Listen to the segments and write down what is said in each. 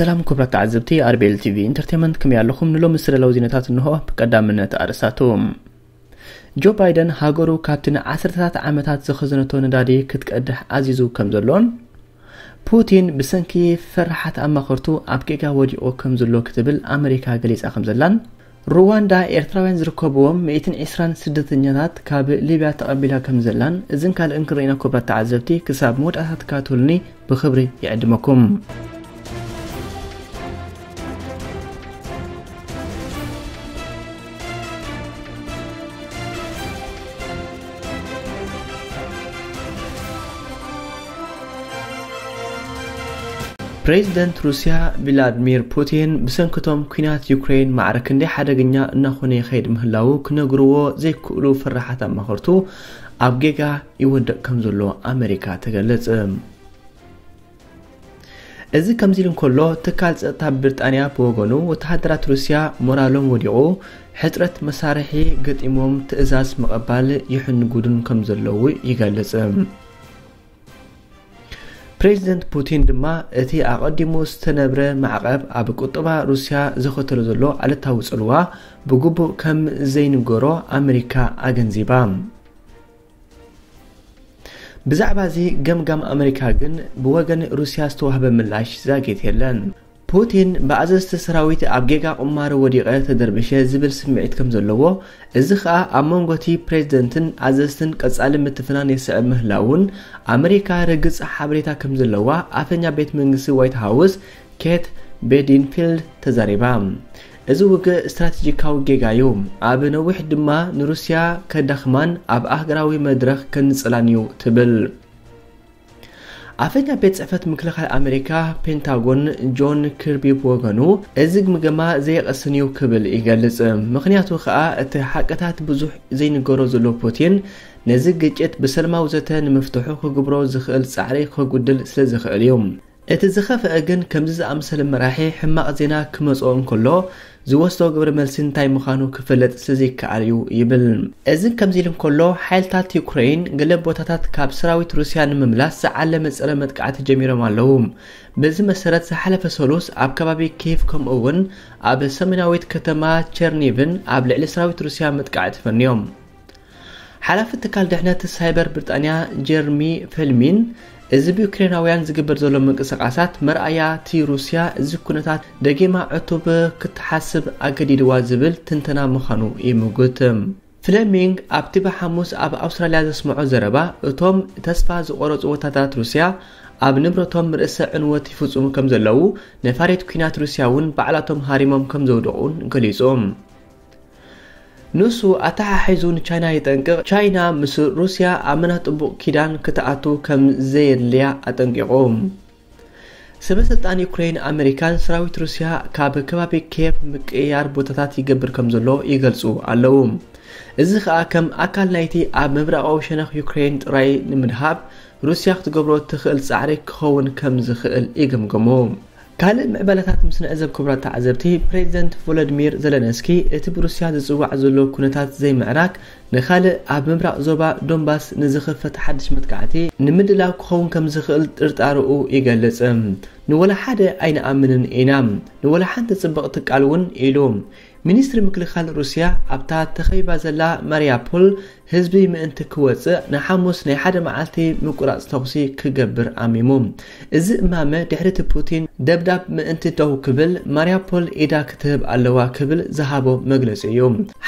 ሰላም ክቡራት ተዓዘብቲ ኣርቤል ቲቪ ኢንተርቴንመንት፣ ከመይ ኣለኹም? ንሎሚ ዝተዳለዉ ዜናታት እንሆ። ብቀዳምነት ኣርእስታቱ። ጆ ባይደን ሃገሩ ካብቲ ንዓሰርተታት ዓመታት ዝኸዘነቶ ነዳዲ ክትቀድሕ ኣዚዙ ከም ዘሎን፣ ፑቲን ብሰንኪ ፈራሓት ኣማኸርቱ ኣብ ጌጋ ወዲቑ ከም ዘሎ ክትብል ኣመሪካ ገሊጻ ከም ዘላን፣ ሩዋንዳ ኤርትራውያን ዝርከብዎም ሚእትን ዕስራን ስደተኛታት ካብ ሊብያ ተቐቢላ ከም ዘላን፣ እዝን ካልእን ክንርኢና ክቡራት ተዓዘብቲ፣ ክሳብ መወዳእታ ትከታተሉኒ ብኽብሪ ይዕድመኩም። ፕሬዚደንት ሩስያ ቪላድሚር ፑቲን ብሰንክቶም ኲናት ዩክሬን ማዕረ ክንደይ ሓደገኛ እናኾነ ይኸይድ ምህላዉ ክነግርዎ ዘይክእሉ ፈራሓት ኣማኸርቱ ኣብ ጌጋ ይወድቕ ከም ዘሎ ኣመሪካ ተገለጸ። እዚ ከምዚ ኢሉ እንከሎ፣ ትካል ጸጥታ ብሪጣንያ ብወገኑ፣ ወተሃደራት ሩስያ ሞራሎም ወዲቑ፣ ሕጽረት መሳርሒ ገጢሞም ትእዛዝ ምቕባል ይሕንጉዱን ከም ዘለዉ ይገልጽ። ፕሬዚደንት ፑቲን ድማ፣ እቲ ኣቐዲሙ ዝተነብረ ማዕቐብ ኣብ ቁጠባ ሩስያ ዘኸተሎ ዘሎ ኣሉታዊ ጽልዋ ብግቡእ ከም ዘይንገሮ ኣመሪካ ኣገንዚባ። ብዛዕባ እዚ ገምጋም ኣመሪካ ግን ብወገን ሩስያ ዝተዋህበ ምላሽ ዛጊት የለን። ፑቲን ብኣዘዝቲ ሰራዊት ኣብ ጌጋ ቁማር ወዲቐ ተደርቢሸ ዝብል ስምዒት ከም ዘለዎ፣ እዚ ኸኣ ኣብ መንጎ እቲ ፕሬዝደንትን ኣዘዝትን ቀጻሊ ምትፍናን የስዕብ ምህላዉን ኣመሪካ ርግጽ ሓበሬታ ከም ዘለዋ ኣፈኛ ቤት መንግስቲ ዋይት ሃውስ ኬት ቤዲንፊልድ ተዛሪባ። እዚ ውግእ ስትራቴጂካዊ ጌጋ እዩ። ኣብ ነዊሕ ድማ ንሩስያ ከዳኽማን ኣብ ኣህጉራዊ መድረኽ ከንጽላን እዩ ትብል። ኣፈኛ ቤት ጽሕፈት ምክልኻል ኣመሪካ ፔንታጎን ጆን ኪርቢ ብወገኑ፣ እዚ ግምገማ ዘይቐስን እዩ ክብል ይገልጽ። ምኽንያቱ ኸኣ እቲ ሓቅታት ብዙሕ ዘይንገሮ ዘሎ ፑቲን ነዚ ግጭት ብሰላማዊ ዘተ ንምፍትሑ ክግብሮ ዝኽእል ጻዕሪ ከጉድል ስለ ዝኽእል እዩ። እቲ ዝኸፍአ ግን ከምዚ ዝኣመሰለ መራሒ ሕማቕ ዜና ክመጽኦ እንከሎ ዝወስዶ ግብረ መልሲ እንታይ ምዃኑ ክፍለጥ ስለዘይከኣል እዩ ይብል። እዚ ከምዚ ኢሉ እንከሎ፣ ሓይልታት ዩክሬን ገለ ቦታታት ካብ ሰራዊት ሩስያ ንምምላስ ዝዓለመ ጸረ መጥቃዕቲ ጀሚሮም ኣለዉ። በዚ መሰረት ዝሓለፈ ሰሉስ ኣብ ከባቢ ኪየቭ ከምኡ እውን ኣብ ሰሜናዊት ከተማ ቸርኒቭን ኣብ ልዕሊ ሰራዊት ሩስያ መጥቃዕቲ ፈንዮም። ሓላፊ ትካል ድሕነት ሳይበር ብሪጣንያ ጀርሚ ፈልሚን፣ እዚ ብዩክሬናውያን ዝግበር ዘሎ ምንቅስቓሳት መርኣያ እቲ ሩስያ እዚ ኩነታት ደጊማ ዕቱብ ክትሓስብ ኣገዲድዋ ዝብል ትንተና ምዃኑ ይምጉት። ፍለሚንግ ኣብቲ ብሓሙስ ኣብ ኣውስትራልያ ዘስምዖ ዘረባ፣ እቶም ተስፋ ዝቖረጹ ወታደራት ሩስያ ኣብ ንብረቶም ርእሰ ዕንወት ይፍጽሙ ከም ዘለዉ ነፋሪት ኲናት ሩስያ እውን ባዕላቶም ሃሪሞም ከም ዘውደቑን ገሊጹ። ንሱ ኣተሓሒዙ ንቻይና የጠንቅቕ፣ ቻይና ምስ ሩስያ ኣመና ጥቡቕ ኪዳን ክትኣቱ ከም ዘየድልያ ኣጠንቂቑ። ሰበ ስልጣን ዩክሬን ኣመሪካን ሰራዊት ሩስያ ካብ ከባቢ ኪየቭ ምቅይያር ቦታታት ይገብር ከም ዘሎ ይገልጹ ኣለዉ። እዚ ኸኣ ከም ኣካል ናይቲ ኣብ ምብራቓዊ ሸነኽ ዩክሬን ጥራይ ንምድሃብ ሩስያ ክትገብሮ ትኽእል ጻዕሪ ክኸውን ከም ዝኽእል ይግምግሙ። ካልእ ምዕባለታት ምስ ንዕዘብ ክቡራት ተዓዘብቲ፣ ፕሬዚደንት ቮሎዲሚር ዘለንስኪ እቲ ብሩስያ ዝጽዋዕ ዘሎ ኩነታት ዘይምዕራግ ንኻልእ ኣብ ምብራቕ ዞባ ዶንባስ ንዝኽፈት ሓድሽ መጥቃዕቲ ንምድላው ክኸውን ከም ዝኽእል ጥርጣርኡ ይገልጽ። ንወላ ሓደ ኣይንኣምንን ኢና፣ ንወላ ሓንቲ ጽብቕቲ ቃል እውን ኢሉ። ሚኒስትሪ ምክልኻል ሩስያ ኣብታ ተኸቢባ ዘላ ማሪያፖል ህዝቢ ምእንቲ ክወጽእ ንሓሙስ ናይ ሓደ መዓልቲ ምቁራጽ ተኹሲ ክገብር ኣሚሙ። እዚ እማመ ድሕሪ እቲ ፑቲን ደብዳብ ምእንቲ ደው ክብል ማሪያፖል ኢዳ ክትህብ ኣለዋ ክብል ዝሃቦ መግለጺ እዩ።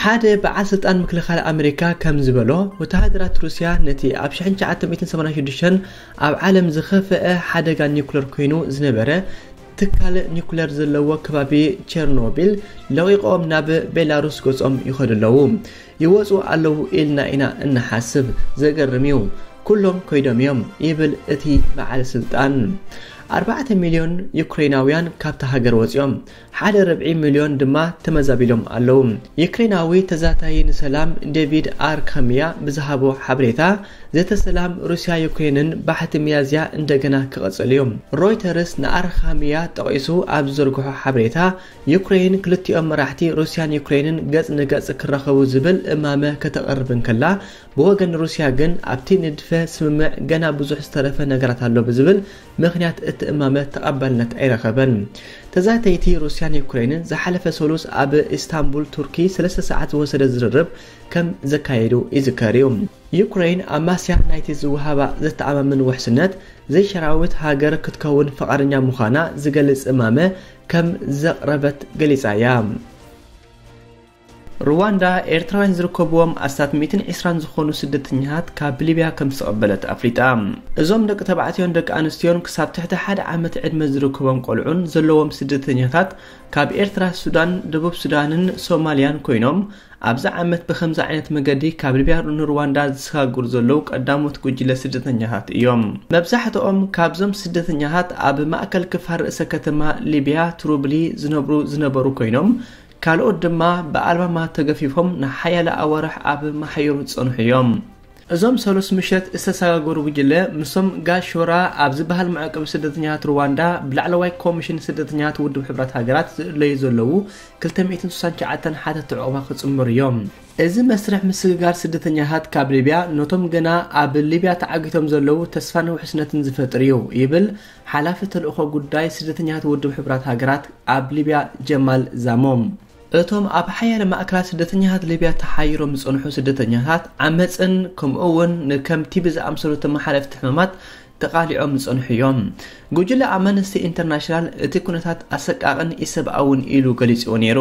ሓደ በዓል ስልጣን ምክልኻል ኣመሪካ ከም ዝበሎ፣ ወተሃደራት ሩስያ ነቲ ኣብ ሽሕን ትሽዓተ ሚእትን ሰማንያን ሽዱሽተን ኣብ ዓለም ዝኸፍአ ሓደጋ ኒኩለር ኮይኑ ዝነበረ ትካል ኒኩለር ዘለዎ ከባቢ ቸርኖቢል ለቒቖም ናብ ቤላሩስ ገጾም ይኸዱ ኣለዉ። ይወጹ ኣለዉ ኢልና ኢና እንሓስብ። ዘገርም እዩ። ኩሎም ከይዶም እዮም፣ ይብል እቲ በዓል ስልጣን። ኣርባዕተ ሚልዮን ዩክሬናውያን ካብታ ሃገር ወጺኦም፣ ሓደ ርብዒ ሚልዮን ድማ ተመዛቢሎም ኣለዉ። ዩክሬናዊ ተዛታዪ ንሰላም ዴቪድ ኣርካምያ ብዝሃቦ ሓበሬታ፣ ዘተ ሰላም ሩስያ ዩክሬንን ባሕቲ ሚያዝያ እንደገና ክቕጽል እዩ። ሮይተርስ ንኣርካምያ ጠቒሱ ኣብ ዝዘርግሖ ሓበሬታ፣ ዩክሬን ክልቲኦም መራሕቲ ሩስያን ዩክሬንን ገጽ ንገጽ ክራኸቡ ዝብል እማመ ከተቕርብ እንከላ፣ ብወገን ሩስያ ግን ኣብቲ ንድፈ ስምምዕ ገና ብዙሕ ዝተረፈ ነገራት ኣሎ ብዝብል ምኽንያት እማመ ተቐባልነት ኣይረኸበን። ተዛተይቲ ሩስያን ዩክሬንን ዝሓለፈ ሰሉስ ኣብ ኢስታንቡል ቱርኪ ሰለስተ ሰዓት ዝወሰደ ዝርርብ ከም ዘካየዱ ይዝከር እዩ። ዩክሬን ኣማስያ ናይቲ ዝወሃባ ዘተኣማምን ውሕስነት ዘይሸራዊት ሃገር ክትከውን ፈቓደኛ ምዃና ዝገልጽ እማመ ከም ዘቕረበት ገሊጻ እያ። ሩዋንዳ ኤርትራውያን ዝርከብዎም ኣስታት ሚእትን ዕስራን ዝኾኑ ስደተኛታት ካብ ሊብያ ከም ዝተቐበለት ኣፍሊጣ። እዞም ደቂ ተባዕትዮን ደቂ ኣንስትዮን ክሳብ ትሕቲ ሓደ ዓመት ዕድመ ዝርከቦም ቆልዑን ዘለዎም ስደተኛታት ካብ ኤርትራ፣ ሱዳን፣ ደቡብ ሱዳንን ሶማልያን ኮይኖም ኣብዚ ዓመት ብኸምዚ ዓይነት መገዲ ካብ ሊብያ ንሩዋንዳ ዝሰጋግሩ ዘለዉ ቀዳሞት ጉጅለ ስደተኛታት እዮም። መብዛሕትኦም ካብዞም ስደተኛታት ኣብ ማእከል ክፋል ርእሰ ከተማ ሊብያ ትሩብሊ ዝነብሩ ዝነበሩ ኮይኖም ካልኦት ድማ ብኣልማማ ተገፊፎም ንሓያለ ኣዋርሕ ኣብ ማሕዩር ዝጸንሑ እዮም። እዞም ሰሉስ ምሸት ዝተሰጋገሩ ጉጅለ ምስቶም ጋሾራ ኣብ ዝበሃል መዕቆቢ ስደተኛታት ሩዋንዳ ብላዕለዋይ ኮሚሽን ስደተኛታት ውድብ ሕቡራት ሃገራት ዝእለዩ ዘለዉ ክልተ ሚእትን ስሳን ትሽዓተን ሓተትቲ ዑቕባ ክጽምበሩ እዮም። እዚ መስርሕ ምስግጋር ስደተኛታት ካብ ሊብያ ነቶም ገና ኣብ ሊብያ ተዓጊቶም ዘለዉ ተስፋን ውሕስነትን ዝፈጥር እዩ ይብል ሓላፊ ተልእኾ ጉዳይ ስደተኛታት ውድብ ሕቡራት ሃገራት ኣብ ሊብያ ጀማል ዛሞም። እቶም ኣብ ሓያለ ማእከላት ስደተኛታት ሊብያ ተሓይሮም ዝጸንሑ ስደተኛታት ዓመጽን ከምኡ እውን ንከም ቲቢ ዝኣምሰሉ ተመሓላለፍቲ ሕማማት ተቓሊዖም ዝጸንሑ እዮም። ጉጅለ ኣምነስቲ ኢንተርናሽናል እቲ ኩነታት ኣሰቃቕን ኢሰብኣውን ኢሉ ገሊጽዎ ነይሩ።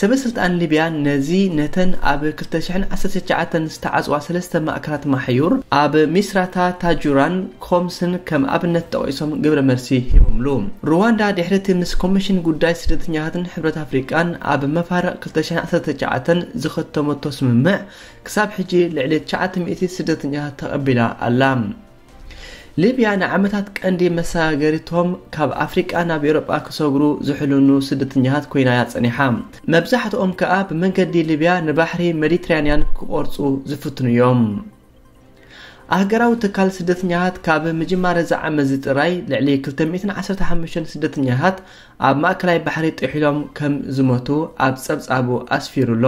ሰበ ስልጣን ሊብያ ነዚ ነተን ኣብ ክልተ ሽሕን ዓሰርተ ትሽዓተን ዝተዓጽዋ ሰለስተ ማእከላት ማሕዩር ኣብ ሚስራታ፣ ታጁራን ኮምስን ከም ኣብነት ጠቒሶም ግብረ መልሲ ሂቦምሉ። ሩዋንዳ ድሕሪ እቲ ምስ ኮሚሽን ጉዳይ ስደተኛታትን ሕብረት ኣፍሪቃን ኣብ መፋርቕ ክልተ ሽሕን ዓሰርተ ትሽዓተን ዝኸተመቶ ስምምዕ ክሳብ ሕጂ ልዕሊ ትሽዓተ ሚእቲ ስደተኛታት ተቐቢላ ኣላ። ሊብያ ንዓመታት ቀንዲ መሰጋገሪቶም ካብ ኣፍሪቃ ናብ ኤውሮጳ ክሰግሩ ዝሕልኑ ስደተኛታት ኮይና እያ ጸኒሓ። መብዛሕትኦም ከኣ ብመንገዲ ሊብያ ንባሕሪ ሜዲትራንያን ክቖርጹ ዝፍትኑ እዮም። ኣህገራዊ ትካል ስደተኛታት ካብ ምጅማር እዚ ዓመት እዚ ጥራይ ልዕሊ ክልተ ሚእትን ዓሰርተ ሓሙሽተን ስደተኛታት ኣብ ማእከላይ ባሕሪ ጥሒሎም ከም ዝሞቱ ኣብ ጸብጻቡ ኣስፊሩ ኣሎ።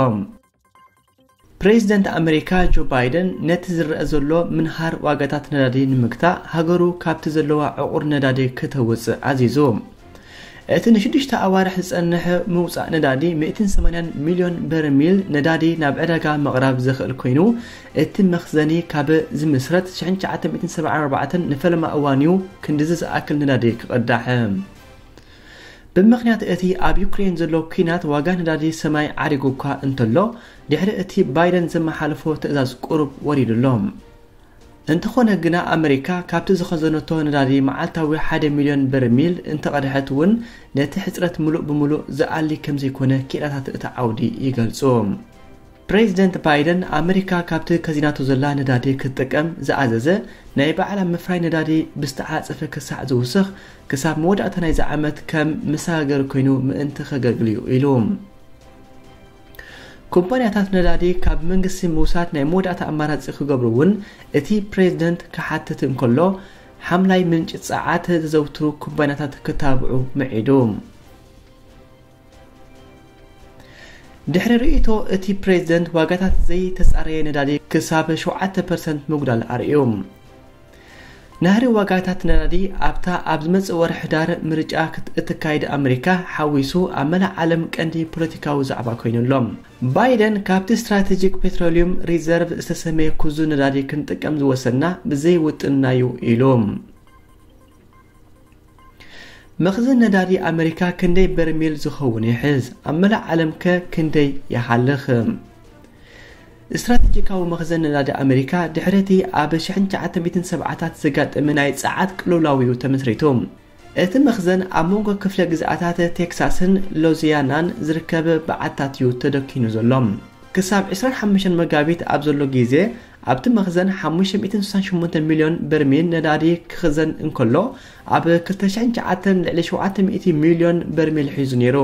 ፕሬዚደንት ኣመሪካ ጆ ባይደን ነቲ ዝረአ ዘሎ ምንሃር ዋጋታት ነዳዲ ንምግታእ ሃገሩ ካብቲ ዘለዋ ዕቑር ነዳዲ ክተውጽእ ኣዚዙ። እቲ ንሽዱሽተ ኣዋርሕ ዝጸንሕ ምውጻእ ነዳዲ ሚእትን ሰማንያን ሚልዮን በርሚል ነዳዲ ናብ ዕዳጋ ምቕራብ ዘኽእል ኮይኑ፣ እቲ መኽዘኒ ካብ ዝምስረት ሽሕን ትሽዓተ ሚእትን ሰብዓን ኣርባዕተን ንፈለማ እዋን እዩ ክንድዚ ዝኣክል ነዳዲ ክቕዳሕ። ብምኽንያት እቲ ኣብ ዩክሬን ዘሎ ኲናት ዋጋ ነዳዲ ሰማይ ዓሪጉ እኳ እንተሎ፣ ድሕሪ እቲ ባይደን ዘመሓለፎ ትእዛዝ ቁሩብ ወሪዱ ኣሎ። እንተኾነ ግና ኣመሪካ ካብቲ ዝኸዘነቶ ነዳዲ መዓልታዊ ሓደ ሚልዮን በርሚል እንተቐድሐት እውን ነቲ ሕጽረት ምሉእ ብምሉእ ዝኣሊ ከም ዘይኮነ ክኢላታት እቲ ዓውዲ ይገልጹ። ፕሬዚደንት ባይደን ኣመሪካ ካብቲ ከዚናቶ ዘላ ነዳዲ ክትጥቀም ዝኣዘዘ ናይ ባዕላ ምፍራይ ነዳዲ ብዝተዓጸፈ ክሳዕ ዝውስኽ ክሳብ መወዳእታ ናይዚ ዓመት ከም መሰጋገሪ ኮይኑ ምእንቲ ከገልግል እዩ ኢሉ። ኩባንያታት ነዳዲ ካብ መንግስቲ ምውሳድ ናይ መወዳእታ ኣማራጺ ክገብሩ እውን እቲ ፕሬዚደንት ክሓትት እንከሎ፣ ሓምላይ ምንጪ ጸዓት ዘዘውትሩ ኩባንያታት ክታብዑ ምዒዱ። ድሕሪ ርእይቶ እቲ ፕሬዚደንት ዋጋታት ዘይተጻረየ ነዳዲ ክሳብ ሸውዓተ ፐርሰንት ምጉዳል ኣርእዩ። ናህሪ ዋጋታት ነዳዲ ኣብታ ኣብ ዝመጽእ ወርሒ ሕዳር ምርጫ ክት-፣ እትካየድ ኣመሪካ ሓዊሱ ኣብ መላእ ዓለም ቀንዲ ፖለቲካዊ ዛዕባ ኮይኑ ኣሎ። ባይደን ካብቲ ስትራቴጂክ ፔትሮሊየም ሪዘርቭ ዝተሰመየ ክዙ ነዳዲ ክንጥቀም ዝወሰና ብዘይ ውጥንና እዩ ኢሉ። መኽዘን ነዳዲ ኣመሪካ ክንደይ በርሚል ዝኸውን ይሕዝ? ኣብ መላእ ዓለም ከ ክንደይ ይሓልኽ? ስትራቴጂካዊ መኽዘን ነዳዲ ኣመሪካ ድሕሪ እቲ ኣብ ሽሕን ትሽዓተ ሚእትን ሰብዓታት ዘጋጠመ ናይ ጸዓት ቅልውላው እዩ ተመስሪቱ። እቲ መኽዘን ኣብ መንጎ ክፍለ ግዝኣታት ቴክሳስን ሎዚያናን ዝርከብ በዓታት እዩ ተደኪኑ ዘሎ። ክሳብ ዕስራን ሓሙሽተን መጋቢት ኣብ ዘሎ ግዜ ኣብቲ መኽዘን ሓሙሽተ ሚእትን ስሳን ሸሞንተ ሚልዮን በርሚል ነዳዲ ክኽዘን እንከሎ፣ ኣብ ክልተ ሽሕን ትሽዓተን ልዕሊ ሸውዓተ ሚእቲ ሚልዮን በርሚል ሒዙ ነይሩ።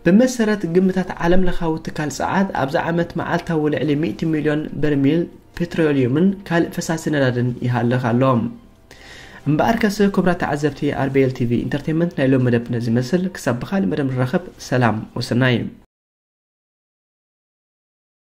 ብመሰረት ግምታት ዓለም ለኻዊ ትካል ጸዓት፣ ኣብዚ ዓመት መዓልታዊ ልዕሊ ሚእቲ ሚልዮን በርሚል ፔትሮሊየምን ካልእ ፈሳሲ ነዳድን ይሃልኽ ኣሎ። እምበኣርከስ፣ ክቡራት ተዓዘብቲ ኣር ቢ ኤል ቲ ቪ ኢንተርቴይንመንት፣ ናይ ሎም መደብ ነዚ ይመስል። ክሳብ ብኻልእ መደብ ንራኸብ፣ ሰላም ወሰናይ።